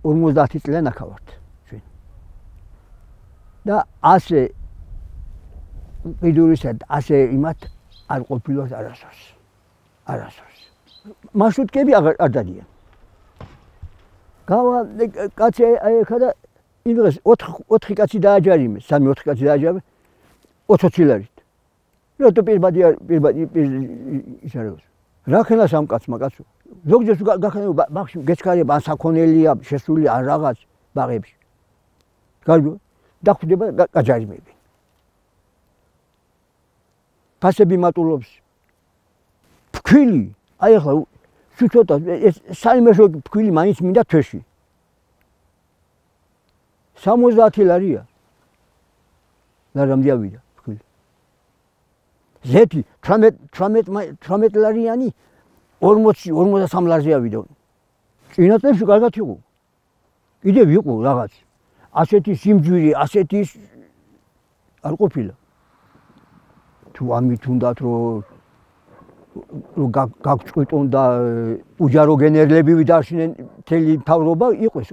50 წლიან აქ ვართ ჩვენ. და ასე ყიდურისად ასე იმათ არ ყოფილვართ არასდროს. არასდროს. მარშრუტკები არ დადიან. გავა კაცი ეხა და იმ დღეს 4 კაცი დააჯარიმეს, 3-4 კაცი დააჯარიმეს 20 ლარით. რატო პირბადი ისარევს. რა ხენას ამ კაცმა კაცო? ზოგჯერ გახენა ბაღში გეჩქარება ან საქონელია, შესული ან რაღაც ბაღებში. გარბო დახვდება გაჯარიმები. ფასები მატულობს. ფქვილი, აი ახლა ცოტა ეს საიმეშო ფქვილი მაინც მინდა თვეში. 70 ლარია. ლარამდე ავიდა ფქვილი. ზეთი 18 ლარიანი 40-43 ლარზე ავიდა. წინა წლებში კარგად იყო. კიდევ იყო რაღაც. ასეთი სიმჯვირი, ასეთი არ ყოფილა. თუ ამით უნდათ რომ გაგწყვიტონ და უჯარო გენერლები ვიდარშინენ მთელი მთავრობა იყო ეს.